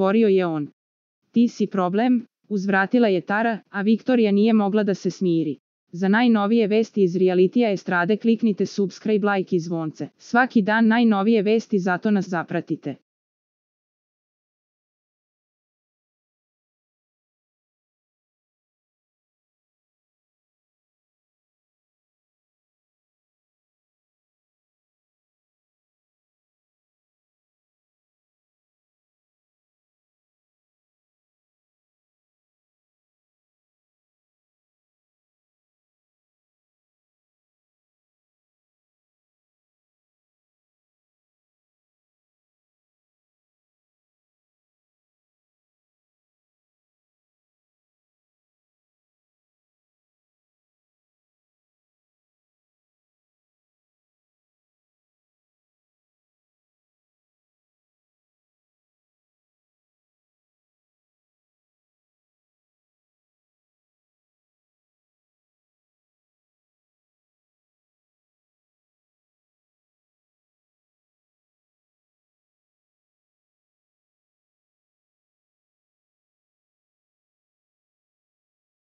odgovorio je on. Ti si problem, uzvratila je Tara, a Viktorija nije mogla da se smiri. Za najnovije vesti iz realitija estrade kliknite subscribe, like i zvonce. Svaki dan najnovije vesti, zato nas zapratite.